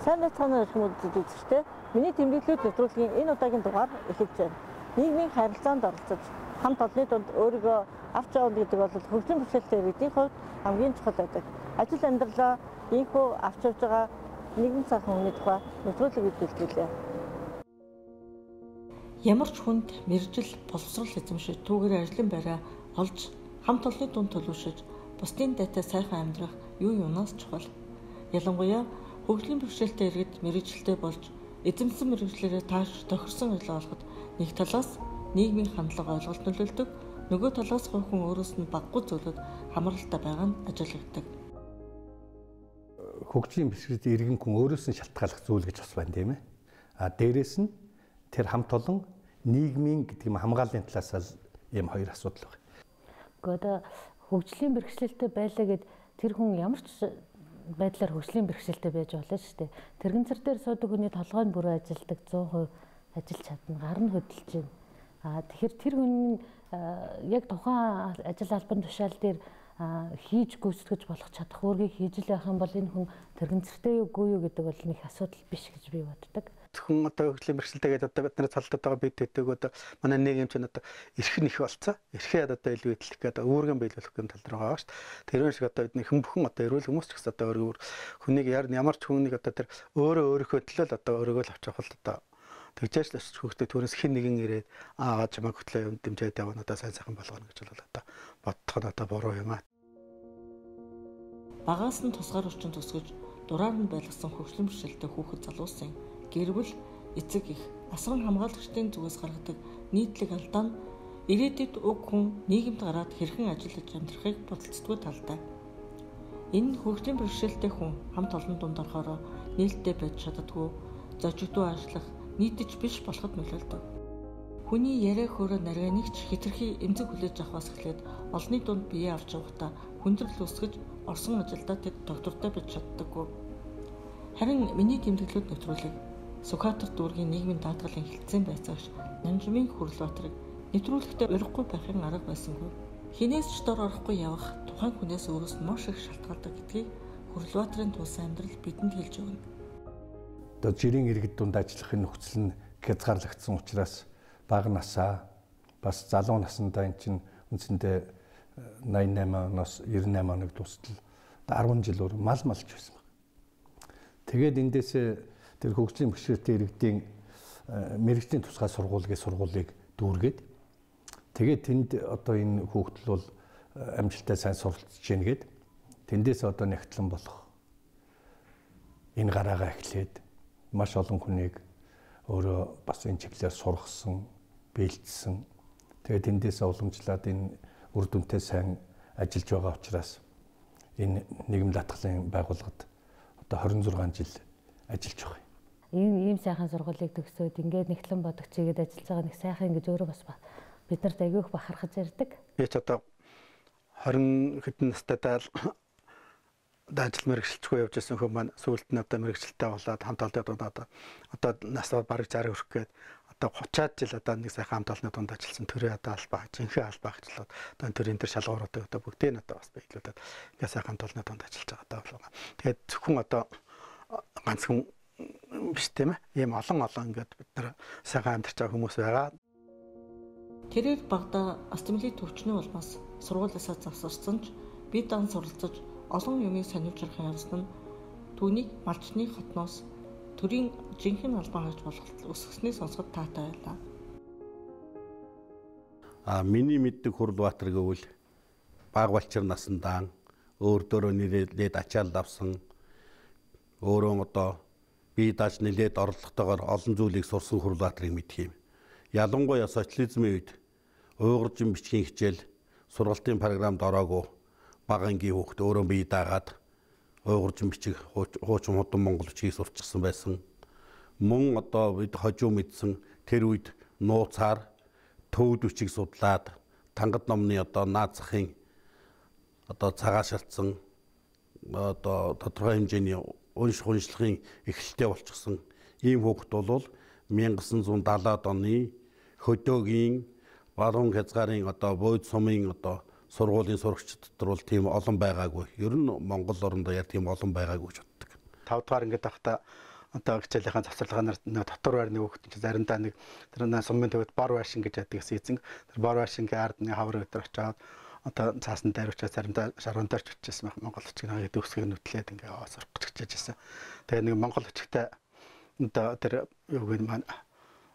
Сайн байцгаана хүмүүст үзэгчтэй. Миний тэмдэглэлүүд нэвтрүүлгийн энэ удаагийн дугаар эхэлж байна. Нийгмийн харилцаанд оролцож хамт олонны дунд өөрийгөө авч явна гэдэг бол хөгжлийн бэрхшээлтэй иргэдийн хувьд хамгийн чухал байдаг. Ажил амьдралаа ийхүү авч явж байгаа нэгэн цагаан хүний тухай нэвтрүүлэг бэлтгэлээ. Ямар ч хүнд мэржил боловсрол эзэмшиж түүгээр ажлын байраа олж хамт олонны дунд төлөвшөж бусдын дайтай сайхан амьдрах юу юунаас чухал. Ялангуяа хөгжлийн бэрхшээлтэй иргэд мэрэгжилтэй болж эзэмсэн мэрэгчлэрээ тааш тохирсон ажил олоход нэг талаас нийгмийн хандлага ойлголт нөлөөлдөг, нөгөө талаас хүн өөрөөс нь баггүй зүйлүүд хамралтай байгаа нь ажиглагддаг. Хөгжлийн бэрхшээлтэй иргэн хүн өөрөөс нь шалтгааллах зүйл гэж бас байна тийм ээ. Дээрээс нь тэр хамт олон нийгмийн гэдэг юм хамгааллын талаас ийм хоёр асуудал байна. Гэхдээ хөгжлийн бэрхшээлтэй байлаа гэд тэр хүн ямар ч байдлаар хөгжлийн бэрхшээлтэй байж болно шүү дээ. Тэрэгцэр дээр суудаг хүний толгойн бүрээ ажилдаг 100% ажиллаж чадна, гар нь хөдөлж байна. Тэгэхээр тэр хүн яг тухайн ажил албан тушаал дээр хийж гүйцэтгэж болох чадах үүргийг хийж л байх юм бол энэ хүн тэрэгцэртэй юу үгүй юу гэдэг бол нэг асуудал биш гэж би боддог. Хүн одоо хөгжлийн бэрхшээлтэйгээд одоо бидний цалдад байгаа бид төдөг одоо манай нийгэм чинь одоо эрхэн их болцоо. Эрхээ одоо илүү идэлэх гэдэг үүргэн биелүүлэх юм тал дээр байгаа шүү дээ. Тэрэн шиг одоо бидний бүхэн одоо эрүүл хүмүүс ч гэсэн одоо өөрөөр хүнийг ямар ч хүнийг одоо тэр өөрийнхөө төлөө л одоо өөрийгөө л авчих бол одоо тэгжээч л хөгжтэй төрөөс хин нэгэн ирээд аа чамайг хөтлөө юм дэмжээд явна одоо сайн сайхан болгоно гэж бол одоо бодох нь одоо буруу юм аа. Багаас нь тусгаар орчин төсгөж дураар нь байлгасан хөгжлийн бэрхшээлтэй хүүхэд залуусын гэр бүл эцэг их асран хамгаалагчдын зүгээс гаргадаг нийтлэг алдаа нь ирээдүйд уг хүн нийгэмд гараад хэрхэн ажиллаж амьдрахыг бодолцдгүй талтай. Энэ хөгжлийн бэрхшээлтэй хүн хамт олон дунд орохоор нээлттэй байж чаддаггүй, зочигдуу ажиллах, нийтж биш болоход нөлөөлдөг. Хүний яриа хөөрэ нарийн нэгч хэтэрхий эмзэг хүлээж авахаас эхлээд олонний дунд бие авч явахдаа хүндрэл үсгэж орсон ажилдаа тэд доктортой байж чаддаггүй. Харин миний тэмдэглэлүүд нэвтрүүлэг Сүхбаатар дүүргийн нийгмийн даатгалын хилцээний байцаагч Нанжмын Хүрлбаатарыг нэвтрүүлэхдээ уриггүй байхын арга байсангүй. Хинээс ч дор орохгүй явах тухайн хүнээс өөрөөс нь маш их шалтгаалдаг гэдгийг Хүрлбаатарын тулсан амьдрал бидэнд хэлж өгнө. Одоо жирийн иргэд дунд ажиллахын нөхцөл нь хязгаарлагдсан учраас бага насаа бас залуу насндаа эн чинь үндсэндээ 88-аас 98 оног дуустал 10 жилөөр мал малж байсан баг. Тэгээд эндээсээ тэр хөгжлийн бэрхшээлтэй иргэдийн мэрэгжлийн тусгай сургуулийг дүүргээд тэгээд тэнд одоо энэ хүүхдэл бол амжилттай сайн суралцж гин гээд тэндээс одоо нэгтлэн болох энэ гараагаа эхлээд маш олон хүнийг өөрөө бас энэ чиглэлээр сургасан, бэлдсэн. Тэгээд тэндээс уламжлаад энэ үр дүнтэй сайн ажиллаж байгаа учраас энэ нийгэм даатгалын байгууллагад одоо 26 жил ажиллаж байгаа. Ийм сайхан сургуулийг төгсөөд ингээд нэгтлэн бодох чигээд ажиллаж байгаа нэг сайхан ингэж өөрөө бас бид нарт агиох бахархаж ярддаг. Би ч одоо 20 хэдэн настайдаа ажил мэргэжилтгүй явж байсан хүмүүс маань сүүлд нь одоо мэргэжилттэй болоод хамт олонны дунд одоо насаа бараг 60 хүрэх гээд одоо 30-аад жил одоо нэг сайхан хамт олонны дунд ажилласан төрөө одоо албаа, жинхэнэ албаа гэжлээд одоо төрийн тэр шалгууруудыг одоо бүгдээ нь одоо бас биелүүлээд ингээ сайхан хамт олонны дунд ажиллаж байгаа даа. Тэгээд зөвхөн одоо ганцхан биш тийм ээ. Ийм олон ингээд бид нар сайхан амьдарч байгаа хүмүүс байгаа. Тэрээр багада астмлийн төвчний улмаас сургуулиасаа завсарсан ч бид дан суралцаж олон юмыг сонирхохын явсан нь түүнийг малчны хотноос төрийн жинхэнэ албан хаагч болох өсгсний сонсоход таатай байлаа. Миний мэддэг Хүрлбаатар гэвэл баг балчир насандаа өөр дөөрөө нэрээд ачаал авсан өөрөө одоо бие дааж нэлээд орлоготойгоор олон зүйлийг сурсан Хүрлбаатарыг мэдх юм. Ялангуяа социализмын үед уйгуржин бичгийн хичээл сургалтын програмд ороогүй бага ангийн хүүхд өөрөө бие даагаад уйгуржин бичиг хуучин худан монгол бичгийг сурчсан байсан. Мөн одоо бид хожуу мэдсэн тэр үед нууцаар төвд бичиг судлаад тангад номны одоо наазахын одоо цагааш шалтсан одоо тодорхой хэмжээний уншлагын эхлэлтэй болчихсон ийм хүүхэд бол 1970-аад оны хөдөөгийн баруун хязгаарын одоо бойд сумын одоо сургуулийн сурагчид дотор бол тийм олон байгаагүй. Ер нь Монгол орондоо яг тийм олон байгаагүй гэж боддог. 5 дахь ингээд байхдаа одоо хичээлийнхаа завсарлагаар нэг дотор байр нэг хүүхэд чинь заримдаа нэг тэр сумын төвд бор байшин гэж яддаг эзэн тэр бор байшингийн ард нэг хавар өдөр очоод одоо цаасан дайрвчаа заримдаа шаргуунтаарч очижсэн Монгол очиг нэг дүүсгийг нүтлээд ингээ аваад сурах гэж хичээжсэн. Тэгээ нэг Монгол очигтай одоо тэр юуг нь маань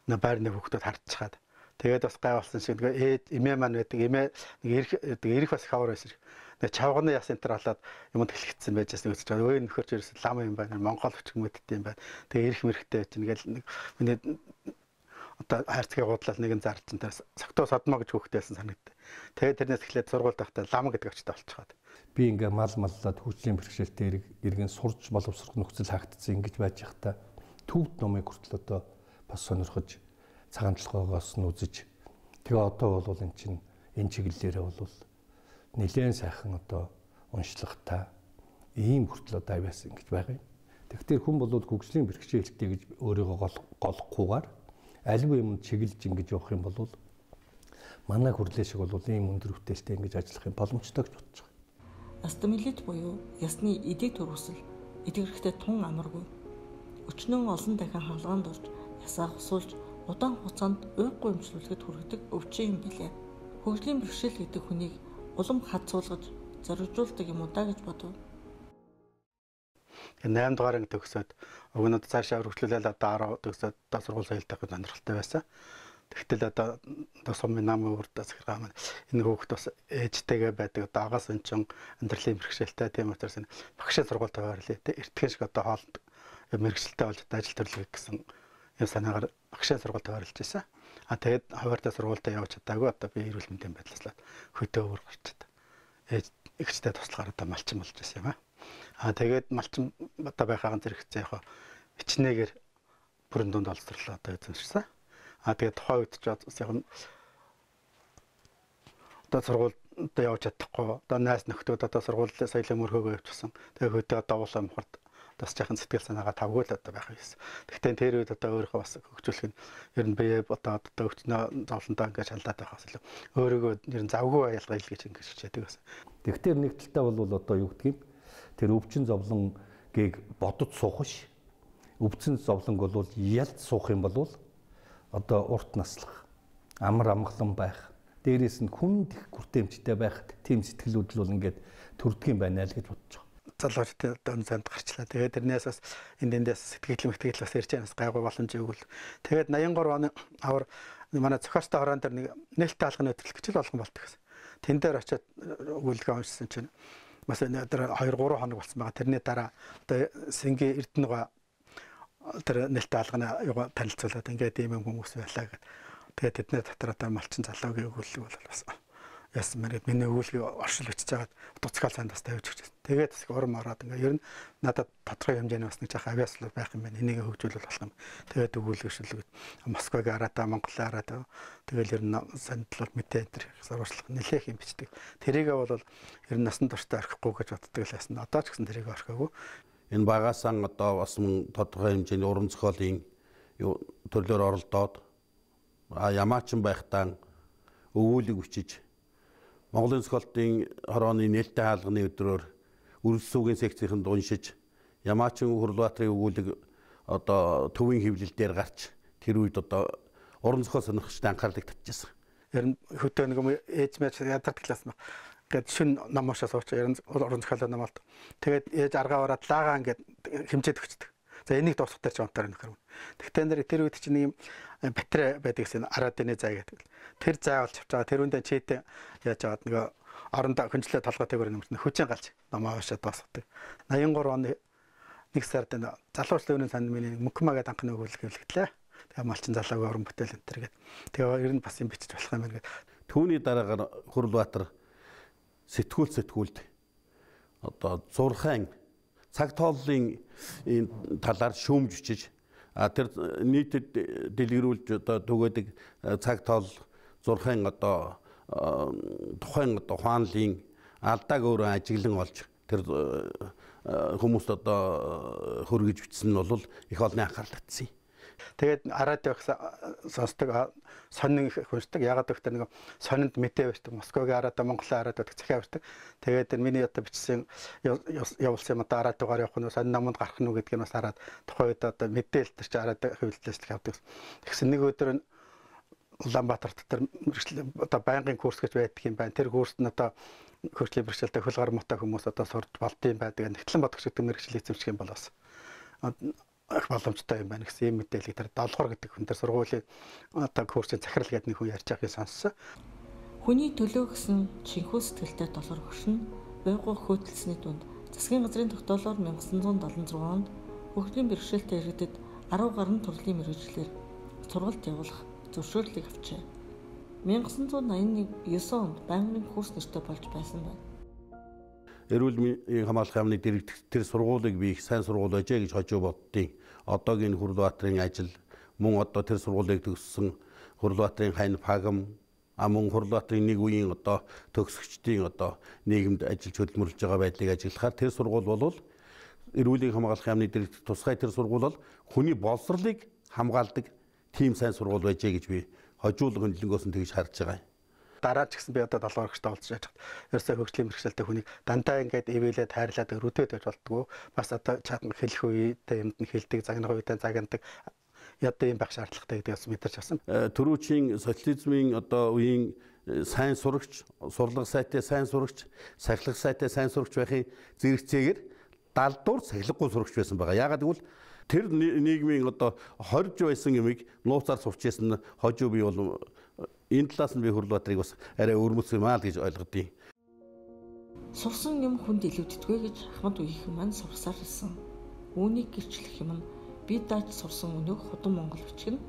байрны хүүхдүүд хардчихад тэгээд бас гай болсон шиг нэг эмээ маань байдаг эмээ нэг эрх бас хавар байсан. Тэгээ чавганы яс энтер болоод юмд хэлчихсэн байжсэн гэж байна. Өө нөхөрч ерөөс лам юм байна. Монгол өчг мэддэг юм байна. Тэгээ эрх мэрхтэй чинь ингээл нэг миний одоо хайрцгийг гудлал нэгэн зардсан тэр согтоо содмо гэж хөөхтэйсэн санагдав. Тэгээ тэрнээс эхлээд сургуульд байхдаа лам гэдэг очтой болчиход. Би ингээ мал маллаад хөгжлийн бэрхшээлтэй иргэн сурч боловсрох нөхцөл хаагдсан ингэж байж захта төвд номыг хүртэл одоо бас сонирхож цагаанчлагоогоос нь үзэж тэгээ одоо бол эн чинь энэ чиглэлээрээ бол нэлээд сайхан одоо уншлагатай ийм хүртэл одоо авьяасан гэж байгаа юм. Тэгэхээр хүн бол хөгжлийн бэрхшээлтэй гэж өөрийгөө голохгүйгээр аль юмд чиглэж ингэж явах юм бол манай хүрлээ шиг бол ийм өндөр бүтээлтэй ингэж ажиллах юм боломжтой гэж бодож байгаа. Астамилит буюу ясны эдийн турвсал эдгэрхтэй тун амаргүй. Өчнөн олон дахин хаалганд орж ясаа хусуулж удаан хугацаанд уйггүй өмчлүүлэхэд хүргэдэг өвчин юм билээ. Хөгжлийн бэрхшээл гэдэг хүнийг улам хадсуулгаж зоригжуулдаг юм уу да гэж бодов. 8 дугаар анги төгсөөд өгнөд цаашаа өргөжлүүлээд одоо 10 төгсөөд одоо сургууль соёлтой сонирхолтой байсан. Тэгтэл одоо сумын намын үрдэ захиргаа маань энэ хүүхд бас ээжтэйгээ байдаг одоо агаас өнчин амьдралын бэрхшээлтэй тийм учраас багшаа сургуультай байрлаа те эртхэн шиг одоо хоолд мэрэгчлээ болж ажил төрлөг гэсэн юм санаагаар багшаа сургуультай байрлаж байсан. А тэгээд хуваартай сургуультай явж чадаагүй одоо би эрүүл мэндийн байдлааслаад хөтөө өөр гарчаад ихтэй туслахаар одоо малчин болж байсан юм аа. А тэгээд малчин одоо байхаагаан зэрэгцээ яг хичнээгэр бүрэн дунд олзрлоо одоо эзэмшсэн. А тэгээд тухайн үед ч яг одоо сургуульд явж чадахгүй одоо найз нөхдүүд одоо сургуулийн соёлын мөрхөөгөө явчихсан. Тэгээд хөтөө давуулаа мохорд бас яхан сэтгэл санаагаа тавгүй л одоо байх юмсэн. Гэхдээ тэр үед одоо өөрийнхөө бас хөгжүүлэх нь ер нь бие одоо өвчнөө зовлонтой ингээд шалдаад байхаас илүү өөрийгөө ер нь завгүй аялгаа ил гэж ингээд хичээдэг байсан. Тэгэхээр нэг талтай бол одоо юу гэдгийг тэр өвчин зовлонгийг бодож суух ш. Өвчин зовлонг бол ялд суух юм бол одоо урт наслах, амар амгалан байх, дээрээс нь хүнд их хүртээмжтэй байх тийм сэтгэлүүд л бол ингээд төрдөг юм байна л гэж бодож байгаа. Залуучтай одоо занд гарчлаа. Тэгээд тэрнээс бас эндээс сэтгэл бас ирж байгаа гайгүй боломж өгвөл. Тэгээд 83 оны авар манай зохиостой хороон дээр нэг нээлттэй алганы хөтөлбөр хичээл болгон болдог гэсэн. Тэн дээр очиод өгүүлгээ уншсан чинь бас энэ 2-3 хоног болсон байгаа. Тэрний дараа одоо Сэнгийн Эрдэнэгаа тэр нээлттэй алганы юга танилцуулаад ингээд ийм хүмүүс байлаа гэдэг. Тэгээд тэдний дотор одоо малчин залуугийн өгүүлэг бол бас яасан мэрэг миний өгүүлгийг оршил өчөж жагаад дуцгаал санд бас тавьж өгч. Тэгээд бас урам ороод ингээ ер нь надад тодорхой хэмжээний бас нэг жаахан авиаслал байх юм байна. Энийг хөгжүүлэл болох юм. Тэгээд өгүүлэг шүлгээд Москвагийн араатаа Монголын араатаа тэгэл ер нь сандлал мэдээ энэ сурвалжлах нэлээх юм бичдэг. Тэрийгээ бол ер нь насан туршдаа орхихгүй гэж боддог л байсан. Одоо ч гэсэн тэрийг орхиагүй. Энэ багаасан одоо бас тодорхой хэмжээний уран зохиолын төрлөөр оролдоод ямаачин байхдаа өгүүлэг бичиж Монголын зохиолтын хорооны нээлттэй хаалганы өдрөөр үргэлжлүүгийн секцийнхэнд уншиж Ямаачин Хурлбаатарын өгүүлэг одоо төвийн хэвлэл дээр гарч тэр үед одоо уран зохиол сонирхчдын анхаарлыг татчихсан. Ер нь хөтөө нэг юм ээж мэж ядардаг класс мах. Гэт шин ном уушаа сууч ер нь уран зохиолын ном болт. Тэгээд ээж аргаа ороод лаагаа ингээд хэмжээд өгчдөг. За энийг дуусгах дээр ч онтоор нөхөр. Тэгтээ тэр үед чинь юм батарей байдаг гэсэн араадны зай гэдэг. Тэр зай олж авч байгаа. Тэр үндэ чийтэй яаж аваад нөгөө орондоо хөнжлөө толгой тэгвэр нэмэрнэ хүчин галж номоо уушаад дуусгадаг. 83 оны 1 сард энэ залуучлагын санд миний мөнхмаа гэдэг анхны өгүүлэг хэвлэгдлээ. Тэгээ малчин залуугийн уран бүтээл энэ төр гэдэг. Тэгээ ер нь бас юм бичиж болох юм байна гэдэг. Түүний дараагаар Хурлбаатар сэтгүүлд одоо зурхайн цаг тооллын талаар шүүмж бичиж тэр нийтэд дэлгэрүүлж одоо түгээдэг цаг тоол зурхайн одоо тухайн одоо хаанлын алдааг өөрөө ажиглан олж тэр хүмүүст одоо хөргөж бичсэн нь бол их олонний анхаарал татсан. Тэгээд радио сонсдог сонин их хүнсдэг. Ягаад гэвэл нэг сонинд мэдээ барьдаг. Москвагийн радио, Монголын радио гэдэг захиа барьдаг. Тэгээд миний одоо бичсэн явуулсан юм одоо радиогоор явах нь сонин наманд гарах нь гэдгийг бас хараад тухайн үед одоо мэдээлэл төр чи радио хэвлэлээс авдаг. Тэгсэн нэг өдөр нь Улаанбаатар дотор одоо байнгын курс гэж байдаг юм байна. Тэр курст нь одоо хөгжлийн бэрхшээлтэй хөлгөр мотой хүмүүс одоо сурч болдсон байдаг. Нэгтлэн бодогч гэдэг мэргэжил эзэмших юм бол бас их боломжтой юм байна гэсэн юм мэдээлэл тэр долгор гэдэг хүн тэр сургуулийн одоо курсын захирал гэдэг нэг хүн ярьж байгааг сонссон. Хүний төлөө гэсэн шинхүү сэтгэлтэй долгор хөшин буйгуу хөөтөлсөний дунд засгийн газрын тогтоолоор 1976 онд хөгжлийн бэрхшээлтэй иргэдэд 10 гаруй төрлийн мэргэжлэр сургалт явуулах зөвшөөрлийг авчээ. 1989 онд байнгын курс нэртэй болж байсан байна. Эрүүл мэндийн хамгаалах яамны тэр сургуулийг би их сайн сургууль ажээ гэж хожуу боддیں۔ Одоогийн Хурлбаатарын ажил мөн одоо тэр сургуулийг төгссөн Хурлбаатарын хань Пагам мөн Хурлбаатарын нэг үеийн одоо төгсөгчдийн одоо нийгэмд ажиллаж хөдөлмөрлөж байгаа байдлыг ажиглахаар тэр сургууль бол эрүүлийн хамгаалах яамны тусгай тэр сургууль бол хүний боловсролыг хамгаалдаг тийм сайн сургууль байжээ гэж би хожуулга хөндлөнгөөс нь тэгж харж байгаа юм. Дараа ч гэсэн би одоо 7 орогчтой уулзж яж хат. Ерөөсөө хөгжлийн бэрхшээлтэй хүнийг дандаа ингээд ивэлээ тайрлаад рүтэд байж болтгоо. Бас одоо чад хэлэх үедээ юмд нь хэлдэг, загнах үедээ загнадаг. Ядаа юм байх шаардлагатай гэдгээс мэдэрч авсан. Төрүүчийн социализмын одоо үеийн сайн сурагч, сурлага сайтай сайн сурагч, сахилга сайтай сайн сурагч байхын зэрэгцээгээр далдуур сахилгагүй сурагч байсан байгаа. Яагаад гэвэл тэр нийгмийн одоо хорж байсан юмыг нууцаар сурч байсан хожуу би бол энэ талаас нь би Хурлбаатарыг бас арай өрмөц юм аа л гэж ойлгодیں۔ Сурсан юм хүнд илүүддэггүй гэж Ахмад үеийнхэн маань сурсаар ирсэн. Үүнийг гэрчлэх юм нь би дааж сурсан өнөөх худам Монгол бичгэн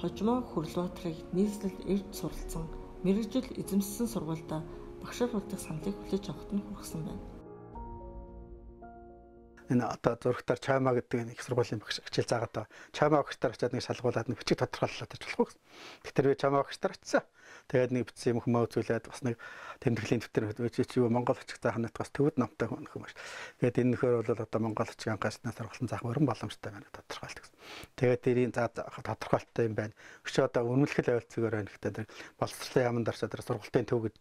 хожимоо Хурлбаатарыг нийслэл эрд суралцсан мэргэжил эзэмссэн сургуультай багшаар болдог саналыг хүлээж авахт нь хүргэсэн байна. Энэ одоо зурагтаар чама гэдэг нэг сургуулийн багш хичээл заагаад чама багштар очиад нэг шалгуулад нэг бичиг тодорхойлолоо гэж болох гэсэн. Тэгэхээр би чама багштар очисан. Тэгээд нэг бичсэн юм хүмүүст үзүүлээд бас нэг тэмдэглэлийн дэвтэр чи юу Монгол бичиг заахнаас бас төвд номтой хүн юм байна. Тэгээд энэ нөхөр бол одоо Монгол бичгийн гашнаас сургалтын заах өрн боломжтой байна тодорхойлт гэсэн. Тэгээд тэрийн тодорхойлттой юм байна. Өчигдөр одоо үнэмлэхэл ойлцгоор байна гэхдээ боловсролын яамд орчоод сургалтын төв гэд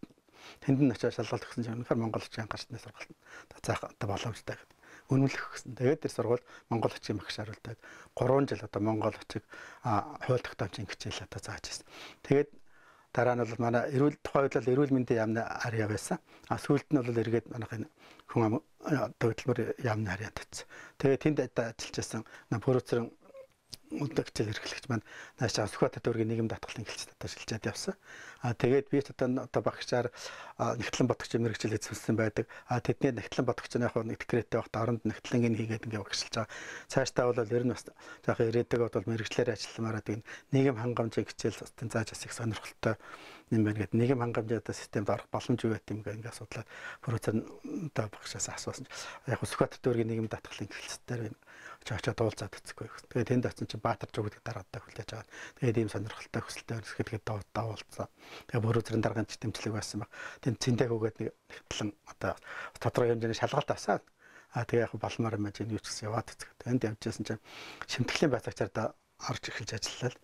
тэнд нь очиад шалгалт өгсөн юм. Өнөхөр Монгол бичгийн гашнаас сургалтын заах одоо боломжтой гэдэг. Үнэмлэх гэсэн. Тэгээд тэр сургууль Монгол бичгийн багшаар үлдээд 3 жил одоо Монгол бичиг хууль тогтоомжийн хичээл одоо зааж байсан. Тэгээд дараа нь бол манай тухайн үед л эрүүл мэндийн яамны арья байсан. Сүүлд нь бол эргээд манайх энэ хүн хөдөлмөр яамны арьяанд татсан. Тэгээд тэнд ажиллаж байсан Пүрүцрэн үлдэгчл эрхлэгч маань нааш Сүхбаатар дүүргийн нийгэм даатгалын хэлцээд одоо шилжээд явсан. Тэгээд би одоо багшаар нэгтлэн бодогчийн мэргэжил эзэмссэн байдаг. Тэдний нэгтлэн бодогчны яг нэг декреттэй багт оронд нэгтлэнгийн хийгээд ингээ багшилж байгаа. Цаашдаа бол ер нь бас жоохон ирээдэг бол мэргэжлэр ажилламаараа тийм нийгэм хангамжийн хичээл систем зааж бас их сонирхолтой юм байна гэдэг. Нийгэм хангамжийн системд орох боломж юу гэдэг юм ингээ асуудлаа Пүрүцрэн одоо багшаас асуусан. Яг Сүхбаатар дүүргийн нийгэм даатгалын хэлцээр очоод уулзаад үзэхгүй. Тэгээд тэнд очсон чинь Баатар зүгт дараадаа хүлээж аваад тэгээд ийм сонирхолтой хүсэлтэй өрсөлдөд давуулсан. Тэгээд Пүрүцрэн даргын тэмцлэг байсан баг. Тэнд цэндэг өгөөд нэг хэвтлэн одоо тодорхой хэмжээний шалгалт авсан. Тэгээ яг балмаар юм чинь юу ч гэсэн яваад үзэх. Тэнд явжсэн чинь шимтгэлийн байцаагчаар да орж эхэлж ажиллаа.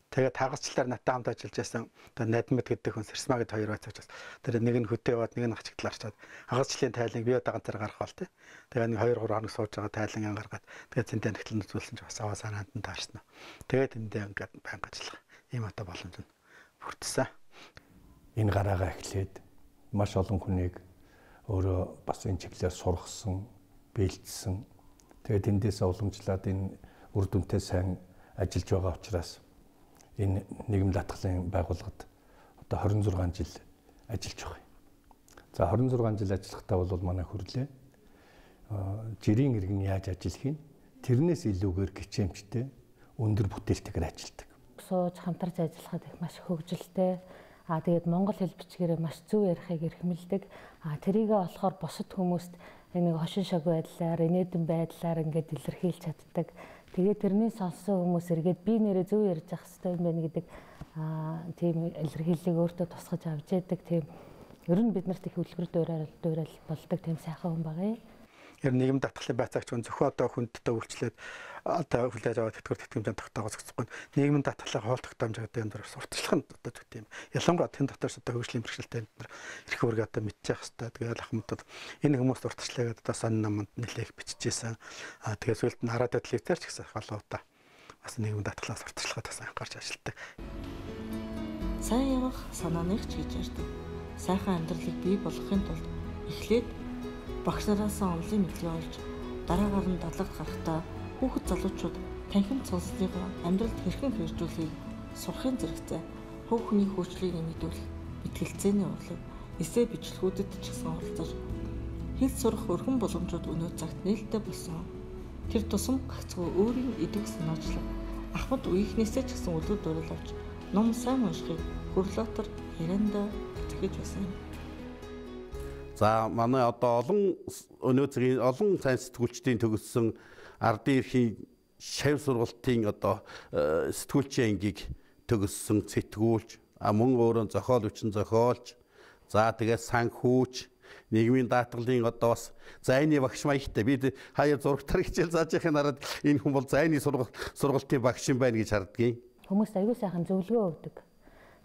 Тэгээд таагасчлаар наттай хамт ажиллаж байсан одоо Надмид гэдэг хүн Сэрсма гэдэг хоёр байцаагч. Тэр нэг нь хөтөө яваад нэг нь хачигдлаар чад. Хагасчлалын тайланг бие даганцаар гарах бол тээ. Тэгээд нэг 2-3 хоног сууж байгаа тайлан гаргаад тэгээд цэнтэй нэгтлэн үзүүлсэн ч бас аваа санаанд нь таарсан. Тэгээд эндээ ингээд байнга ажиллах ийм одоо боломж нь бүрдсэн. Энэ гараагаа эхлээд маш олон хүнийг өөрөө бас энэ чиглэлээр сургасан, бэлдсэн. Тэгээд эндээс уламжлаад энэ үр дүнтэй сайн ажиллаж байгаа учраас энэ нийгэм даатгалын байгууллагад одоо 26 жил ажиллаж байгаа. За 26 жил ажиллахдаа бол манай хөрлөө жирийн иргэн яаж ажиллахыг тэрнээс илүүгээр гिचэмжтэй өндөр бүтээлтэйгээр ажилладаг. Сууж хамтарч ажиллахад их маш хөвгөлтэй. Тэгээд монгол хэл бичгээрээ маш зөв ярихыг эрхэмлдэг. Тэрийгээ болохоор бусад хүмүүст нэг хошин шог байдлаар, инээдэн байдлаар ингээд илэрхийлж чаддаг. Тэгээд тэрний сонссон хүмүүс эргээд би нэрээ зөв ярьж ах хэрэгтэй юм байна гэдэг тийм илэрхийллийг өөртөө тусгаж авч яадаг. Тийм ер нь бид нарт их үлгэр дуурайл болдог тийм сайхан хүн байгаа юм. ер нь нийгэм татгалын байцаагч зөвхөн одоо хүндтэй үйлчлээд одоо хүлээж аваад тэтгэр тэтгэмжийн тогтоогоос гэхгүй нийгмийн татгалын хоол тогтоомж гэдэг юм дээр сурталчлах нь одоо зүгт юм. Ялангуяа тэнд дотоос одоо хөгжлийн бэрхшээлтэй бид нар эрх үүрэг одоо мэдчих хэвээр. Тэгээд ахмадууд энэ хүмүүс сурталчлаагаад одоо сонин наманд нэлээх бичижсэн. Тэгээд сүүлд нь хараад телевизээр ч гэсэн халууда бас нийгмийн татгалаас сурталчлахад бас анхаарч ажилладаг. Сайн явах санааныг ч гэж ярьдаг. Сайхан амьдралыг бий болгохын тулд эхлээд багш нараас онлын мэдлэг олж дараагаар нь дадлагт гарахдаа хүүхэд залуучууд танхим цонслыгоо амьдралд хэрхэн хэрэгжүүлэхийг сурахын зэрэгцээ хөв хүний хөгжлийг нэмэгдүүлэх мэтгэлцээний урлаг эссе бичлэгүүдэд ч гэсэн оролцож хэл сурах өргөн боломжууд өнөө цагт нээлттэй болсон. Тэр тусам гагцхүү өөрийн идэг санаачлаг ахмад үеийнхнээсээ ч гэсэн үлгэр дуурайл авч ном сайн уншихыг хөрлөтөр ярианда зөвхөж байсан юм. За манай одоо өнөө цагийн олон сайн сэтгүүлчдийн төгссөн ардын эрхийн шавь сургалтын одоо сэтгүүлчийн ангийг төгссөн сэтгүүлч мөн өөрөө зохиол хүчин зохиолч за тэгээд санхүүч нийгмийн даатгалын одоо бас зайны багш маягтай бид хаяа зурагтар хичээл зааж байхын хараад энэ хүн бол зайны сургалтын багш юм байна гэж хардгийг. Хүмүүс аягүй сайхан зөвлөгөө өгдөг.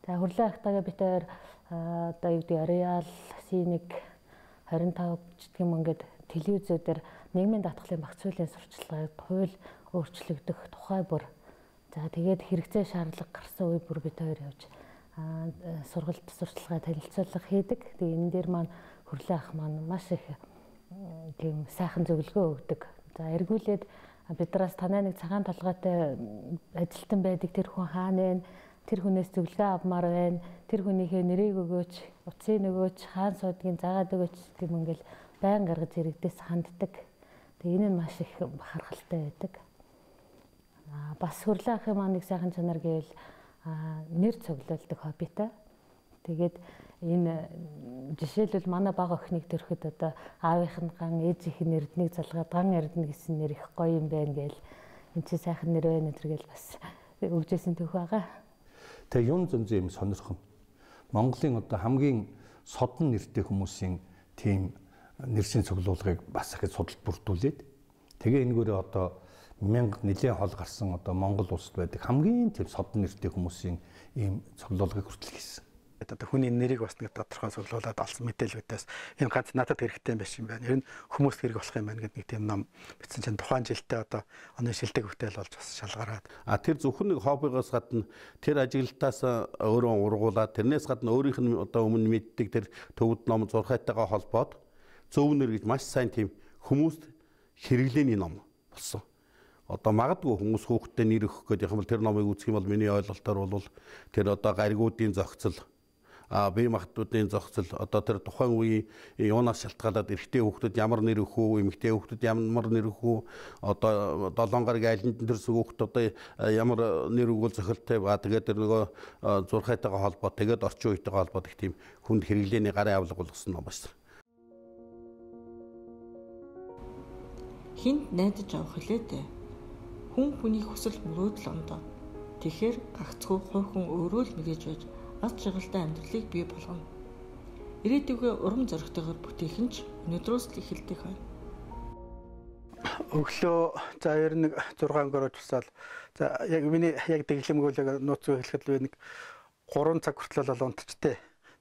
Тэгээ хурлаа ахтагаа битээр одоо юу гэдэг ареал синик 25 гэх юм ингээд телевизүүдээр нийгмийн даатгалын багц хуулийн сурчлагыг хууль өөрчлөгдөх тухай бүр за тэгээд хэрэгцээ шаардлага гарсан үе бүр бид хоёр явж сургалт сурчлагаа танилцуулга хийдэг. Тэгээ энэ дээр маань хурлаа ах маань маш их тийм сайхан зөвлөгөө өгдөг. За эргүүлээд бидраас танай нэг цагаан толгойтой ажилтан байдаг тэр хүн хаана вэ? Тэр хүнээс зөвлөгөө авмаар байна. Тэр хүнийхээ нэрийг өгөөч, утсыг өгөөч, хаан суудгийг заагаад өгөөч гэм ингээл байн гаргаж иргэдээс ханддаг. Тэгээ энэ нь маш их бахархалтай байдаг. Бас хурлаа ахын маань нэг сайхан чанар гэвэл нэр цуглуулдаг хоббитай. Тэгээд энэ жишээлбэл манай бага охиныг төрөхөд одоо аавынх нь ган ээжийнх нь эрднийг залгаад ган эрдэнэ гэсэн нэр их гоё юм байна гээл энэ чи сайхан нэр байна гэдэргээл бас өгжсэн төх байгаа. Тэгээ юм зөнзөө юм сонирхон. Монголын одоо хамгийн содон нэртэй хүмүүсийн тийм нэршин цуглуулгыг бас их судалт бүрдүүлээд тэгээ энэгээр одоо 1000 нэлээд хол гарсан одоо Монгол улсад байдаг хамгийн тийм содон нэртэй хүмүүсийн ийм цуглуулгыг хүртэл хийсэн. Одоо хүний нэрийг бас нэг тодорхой цуглуулад олсон мэдээлүүдээс энэ ганц надад хэрэгтэй юм биш юм байна. Ер нь хүмүүст хэрэг болох юм байна гэдэг нэг тийм ном бичсэн чинь тухайн жилдээ одоо оны шилдэг бүтээл болж бас шалгараад. Тэр зөвхөн нэг хоббигоос гадна тэр ажиглалтаас өөрөө ургуулад тэрнээс гадна өөрийнх нь одоо өмнө мэддэг тэр төвд ном зурхайтайгаа холбоод зөв нэр гэж маш сайн тийм хүмүүст хэрэглээний ном болсон. Одоо магадгүй хүмүүс хүүхдэд нэр өгөх гэдэг юм бол тэр номыг үзэх юм бол миний ойлголтоор бол тэр одоо гаригуудын зохицол бие махбодын зохицол одоо тэр тухайн үеийн юунаас шалтгаалаад эрэгтэй хүүхдэд ямар нэр өгөх үү, эмэгтэй хүүхдэд ямар нэр өгөх үү, одоо 7 гаруй айланд төрсөн хүүхдэд одоо ямар нэр өгвөл зохилтой ба тэгээд тэр нөгөө зурхайтайгаа холбоо тэгээд орчин үетэйгээ холбоод их тийм хүнд хэрэглээний гарын авлага болгосон ном байна. Хинт найдаж авах хэлээ дээ. Хүн хүний хүсэл мөрөөдөл ондоо. Тэгэхээр гагцхүү хувь хүн өөрөө л мэдээж байж аз жаргалтай амьдралыг бий болгоно. Ирээдүгөө урам зоригтойгоор бүтээх нь ч өнөөдрөөс л эхэлдэг байна. Өглөө за 91 6 өнгөрөөж усаал. За яг миний яг дэглэмгүүлэг нууц зүй хэлэхэд л нэг 3 цаг хүртэл бол унтчтэй.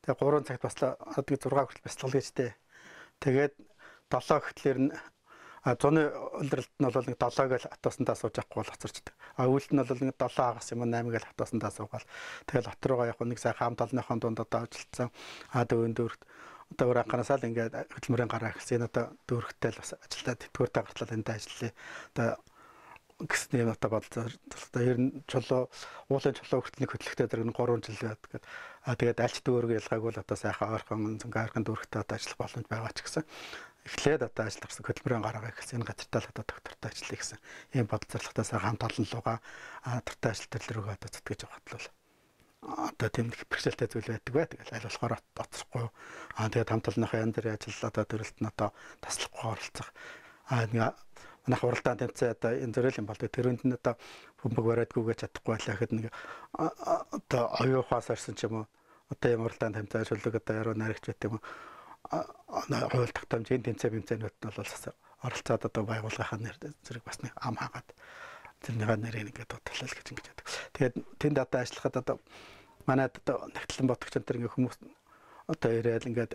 Тэгээ 3 цагт баслаа 6 хүртэл бясалгал гэжтэй. Тэгээд 7 гэхлээр нь зуны улиралд нь бол нэг 7-г л хатуусандаа сууж авахгүй бол хоцорчдаг. Өвөлд нь бол нэг 7 хагас юм 8-г л хатуусандаа суугаал. Тэгэл хот руугаа яг нэг сайхан хам толныхон дунд одоо ажилласан. Дөвөн дөрөвт одоо өөр анханасаа л ингээд хөдөлмөрийн гараа эхэлсэн. Энэ одоо дөрөвттэй л бас ажилдаа тэтгэвртэй гартлал эндээ ажиллая. Одоо гэсэн юм одоо бодлоо. Ер нь чулуу уулын чулуу хүртэл нэг хөдлөхтэй дэрэг 3 жил байдаг. Тэгээд альч дүүрэг ялгаагүй л одоо сайхан ойрхон зөнгө дүүрэгтэй одоо ажиллах боломж байгаа ч гэсэн эхлээд одоо ажил гарсан хөдөлмөрийн гараагаа эхэлсэн. Энэ газартаа л одоо доктортой ажиллая гэсэн. Ийм бодол зорилготой сайхан хамт олон лугаа доктортой ажил төрлөрөөгөө одоо зүтгэж явахад л одоо тийм их бэрхшээлтэй зүйл байдаг бай. Тэгэл аль болохоор оцрохгүй. Тэгээд хамт олонныхаа янз бүрийн ажил одоо төрөлт нь одоо таслахгүй оролцох. Нэг манайх уралдаан тэмцээ одоо энэ зөрөл юм болдог. Тэрүүнд нь одоо бөмбөг бариадгүйгээ чадахгүй байлаа гэхэд нэг одоо оюухаас орсон ч юм уу. Одоо юм уралдаан тэмцээ шүлэг одоо яруу наригч байт юм уу. Хууль тогтоомжийн тэмцээнүүд нь бол оролцоод одоо байгууллагынхаа нэр зэрэг бас нэг ам хаагаад тэрнийхээ нэрийг ингээд дуудлаа л гэж ингэж байдаг. Тэгээд тэнд одоо ажиллахад одоо манайд одоо нэгтлэн бодогч энэ ингээд хүмүүс одоо ирээл ингээд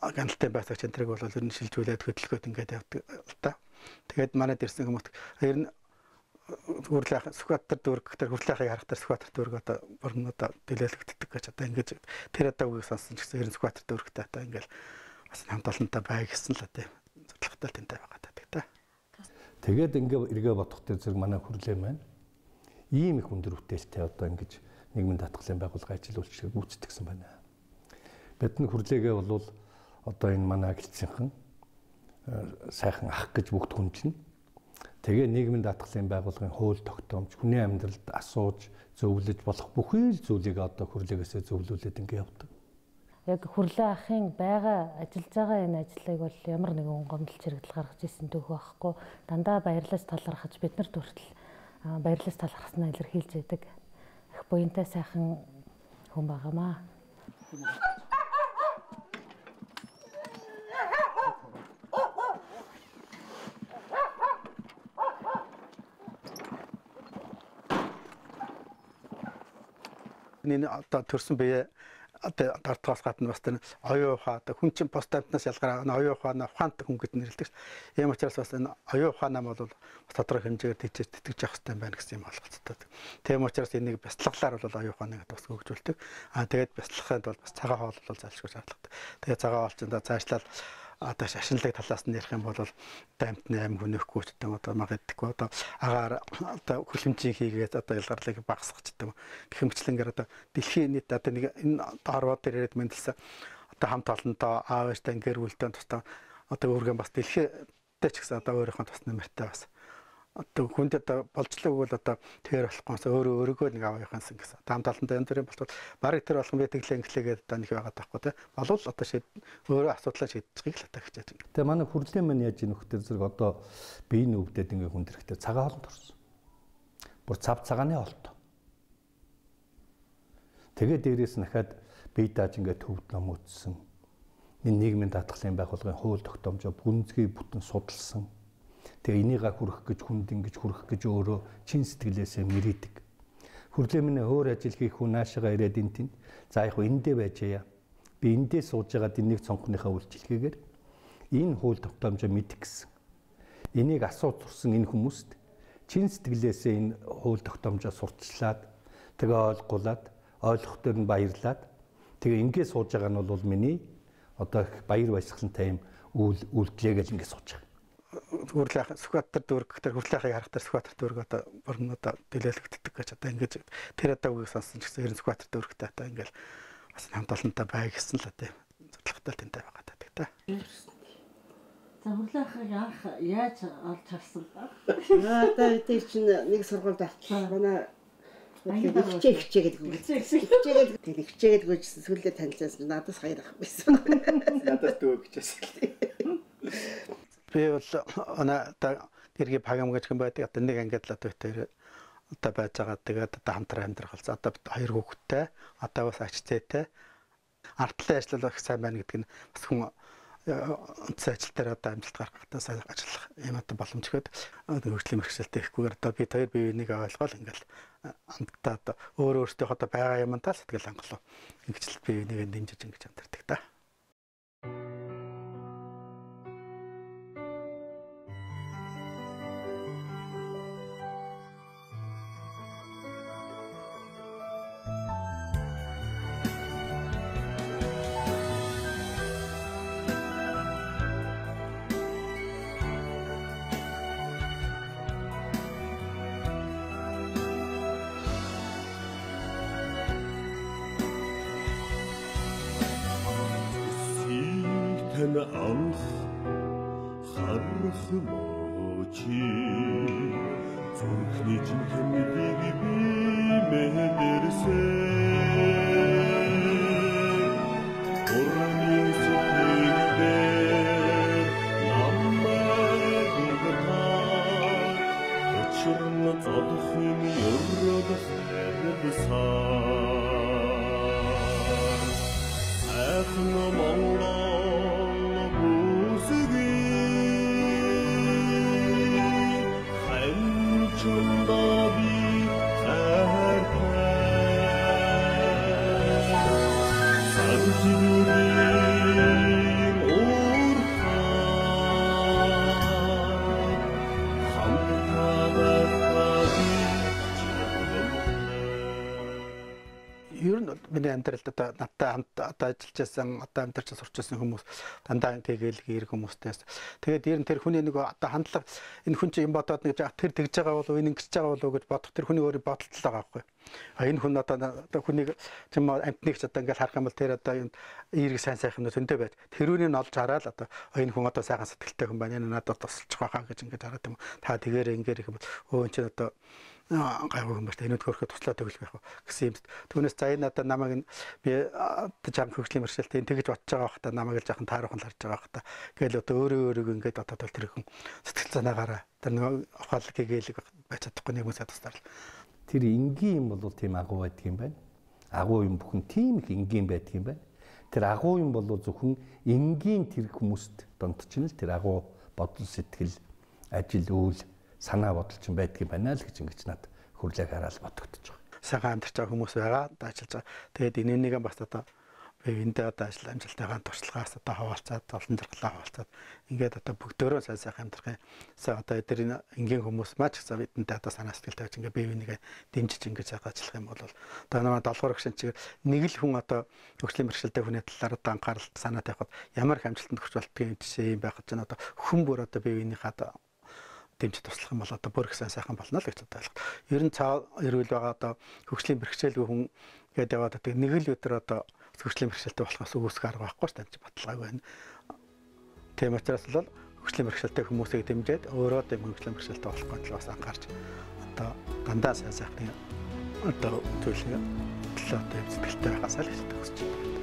ганталтай байцаагч энтрийг бол ер нь шилжүүлээд хөдөлгөөд ингээд явдаг л та. Тэгээд манайд ирсэн хүмүүс ер нь хүрлэх сүхбаатар дүүргтэр хүрлэхийг харахтар сүхбаатар дүүрг одоо бүрэн одоо дэлгээлэгддэг гэж одоо ингэж тэр одоо үгийг сонсон ч гэсэн ер нь сүхбаатар дүүргтэй одоо ингээд бас хамт олонтой бай гэсэн л одоо зорилготой тэнтэй байгаа гэдэг та. Тэгээд ингээд эргээ бодохтой зэрэг манай хүрлээ маань ийм их өндөр бүтээлтэй одоо ингэж нийгмийн татгалын байгууллага ажиллуулж гүйцэтгэсэн байна. Бидний хүрлээгээ бол одоо энэ манай гэлцийнхэн сайхан ах гэж бүгд хүндлэн. Тэгээ нийгмийн даатгалын байгууллагын хууль тогтоомж, хүний амьдралд асууж, зөвлөж болох бүхий л зүйлийг одоо хүрлээгээсээ зөвлүүлээд ингэ явдаг. Яг хүрлээ ахын байгаа ажиллаж байгаа энэ ажлыг бол ямар нэгэн гомдол чирэгдэл гаргаж ирсэн түүх байхгүй. Дандаа баярлалаас талархаж бид нарт хүртэл баярлалаас талархснаа илэрхийлж байдаг. Их буянтай сайхан хүн байгаамаа. Энэ одоо төрсөн бие одоо дартгаас гадна бас тэр оюун ухаан одоо хүн чинь постамтнаас ялгараа оюун ухаанаа ухаантай хүн гэж нэрлэдэг. Ийм учраас бас энэ оюун ухаанаа бол тодорхой хэмжээгээр тийчээс тэтгэж явах хэрэгтэй байна гэсэн юм ойлголттой. Тийм учраас энийг бяцлаглаар бол оюун ухааныг бас хөгжүүлдэг. Тэгээд бяцлахад бол бас цагаан хоол бол залшгүй шаардлагатай. Тэгээд цагаан хоол чинь цаашлал одоо шашинлаг талаас нь ярих юм бол дамтны аим хүнөхгүй ч гэдэг одоо маг гэдэггүй одоо агаар одоо хүлэмжийн хийгээд одоо ялгарлыг багасгах гэдэг гихэмчлэнгээр одоо дэлхийн нийт одоо нэг энэ орвоо дээр яриад мэндэлсэн одоо хамт олонтоо аав ээжтэй гэр бүлтэй тусдаа одоо өөргөн бас дэлхийдээ ч гэсэн одоо өөрийнхөө тус нэмэртэй бас одоо хүнд одоо болжлог бол одоо тэр болохгүйс өөрөөгөө нэг авахынсан гэсэн. Хамт олонтой энэ төрлийн болтол барыг тэр болгон битгэлээ инглээгээд одоо нэг байгаа таахгүй те. Болвол одоо өөрөө асуудлаа шийдчихгийг л одоо хичээж байна. Тэгээ манай хүрлээ маань яаж нөхдөр зэрэг одоо биеийн өвдөд ингээ хүндрэхтэй цагаан хоолнд орсон. Бүр цав цагааны хоолтой. Тэгээ дээрээс нь дахиад бие дааж ингээ төвд ном үтсэн. Энэ нийгмийн даатгалын байгууллагын хууль тогтоомжоо гүнзгий бүтэн судалсан. Тэгээ энийгээ хүрэх гэж хүнд ингэж хүрэх гэж өөрөө чин сэтгэлээсээ мэрийдэг. Хүрлээ минь өөр ажил хийх хүн наашаага ирээд энэ тэнд. За яг эндээ байж яа. Би эндээ сууж байгаад энийг цонхныхаа үйлчлэгээр энэ хууль тогтоомжоо мэдэх гэсэн. Энийг асууж сурсан энэ хүмүүст чин сэтгэлээсээ энэ хууль тогтоомжоо сурталчлаад тэгээ ойлгох төр нь баярлаад тэгээ ингээд сууж байгаа нь бол миний одоо баяр баясгалантай юм үйлдэлээ гэж ингээд сууж байгаа. Хүрлэх Сүхбаатар дүүрг тэр хүрлэхийг харахтар Сүхбаатар дүүрг одоо бүрэн одоо дэлгээлэгддэг гэж одоо ингэж тэр одоо үгийг сонсон ч гэсэн ер нь Сүхбаатар дүүргтэй одоо ингээл бас хамт олонтой бай гэсэн л одоо зорилготой тэнтэй байгаа гэдэг та. За хүрлэхийг анх яаж олж харсан ба? Одоо тэр чинь нэг сургуульд авчлаа. Манай хичээгээд гүйсэн сүлдээ танилцсан надаас хоёр ах байсан. Надаас дүү гэжсэн. Би бол одоо гэргийн пагам гэж юм байдаг. Одоо нэг ангид л одоо тэр одоо байж байгаа. Тэгээд одоо хамтран амьдрах болсон. Одоо хоёр хүүхэдтэй, одоо бас ачцээтэй. Артлын ажил их сайн байна гэдэг нь бас хүн үндэс ажил дээр одоо амжилт гаргахтаа сайн ажиллах юм одоо боломжтой. Хөгжлийн мэргэжилтэд ихгүйгээр одоо бид хоёр бие биенийг ойлгоол ингээл хамтдаа одоо өөртөө одоо байгаа юмтаа сэтгэл хангалуун ингэж л бие биенийг дэмжиж ингэж амьдардаг та. Анх харах мочи зүрхний жинхэнэгийг би мэдэрсэн орны сэтгэлдээ намайг угтаа очрон зодхон өрөөд хайрсан ахна Монгол ер нь миний амьдралд одоо надтай хамт одоо ажиллаж байсан, одоо амьдарч сурч байсан хүмүүс дандаа тэгээл гэр хүмүүстээс тэгээд ер нь тэр хүний нэг одоо хандлага энэ хүн чинь юм бодоод нэг тэр тэгж байгаа болов энэ ингэж байгаа болов гэж бодох тэр хүний өөрийн бодолтой байгаа байхгүй. Энэ хүн одоо хүнийг юм амтныг ч одоо ингээд харах юм бол тэр одоо юм эерэг сайн сайхан зөндөө байж тэрүүнийг нь олж хараад одоо энэ хүн одоо сайхан сэтгэлтэй хүн байна. Энэ надад тусалчих байхаа гэж ингээд хараад юм. Та тэгээрээ ингээд их бол өө энэ чинь одоо гайгүй юм байна. Энэд хөрөхөд туслаад өглөх байх гэсэн юм. Түүнээс за энэ одоо намайг би жам хөгжлийн мэргэжилтэд тэгж бодож байгаа хата намайг л жаахан таарахын харж байгаа хата. Гээл одоо өөрөө ингээд одоо тэр хүн сэтгэл санаагаараа тэр нэг ухаалаг гээйлэг байж чадахгүй нэг хүмүүсээ тусдаар. Тэр энгийн юм бол тийм агуу байдаг юм байна. Агуу юм бүхэн тийм их энгийн байдаг юм байна. Тэр агуу юм бол зөвхөн энгийн тэр хүмүүст донтчихно л тэр агуу бодол сэтгэл ажил үйл санаа бодол ч байдаг юм байна л гэж ингэж надад хүрлэг хараад бодогдож байгаа. Сайхан амьдарч байгаа хүмүүс байгаа, ажиллаж байгаа. Тэгээд энэнийг бас одоо эндээ одоо ажил амжилтайгаа туршлагаас одоо хаваалцаад, олон зэрэглээ хаваалцаад ингээд одоо бүгдөө сайн сайхан амьдрахын одоо эдгээр энгийн хүмүүс маань ч гэсэн бидэнтэй одоо санаа сэтгэл тавьж ингээд бие бинийгээ дэмжиж ингээд сайхан ажиллах юм бол одоо нэг 7 дугаар гишүүн чигээр нэг л хүн одоо хөгжлийн бэрхшээлтэй хүний талаар одоо анхаарал санаа тавихад ямар их амжилтанд хүрч болтгийн жишээ юм байх гэж байна. Одоо хүн бүр одоо бие бинийхээ одоо дэмжиж туслах юм бол одоо бүр их сайхан болно л гэж бодлоо. Ер нь цаа эрүүл байгаа одоо хөгжлийн бэрхшээлгүй хүн гэдэг яваад одоо нэг л өдөр одоо хөгжлийн бэрхшээлтэй болохоос үүсэх арга байхгүй ч гэж бодлоо байна. Тийм учраас л хөгжлийн бэрхшээлтэй хүмүүсийг дэмжиж өөрөө тийм хөгжлийн бэрхшээлтэй болохгүй л бас анхаарч одоо дандаа сайн сайхны одоо төлөвлөгөө төлөө сэтгэлтэй байхаас л хэлдэг гэж байна.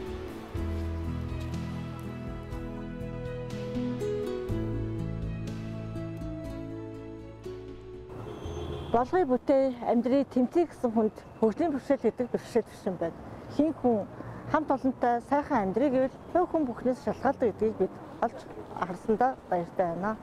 Болгоё бүтээл амьдрий тэмцэе гэсэн хүнд хөгжлийн бэрхшээл гэдэг бэрхшээл биш юм байна. Хин хүн хамт олонтой сайхан амьдрий гэвэл хувь хүн бүхнээс шалтгаалдаг гэдгийг бид олж харсандаа баяртай байна.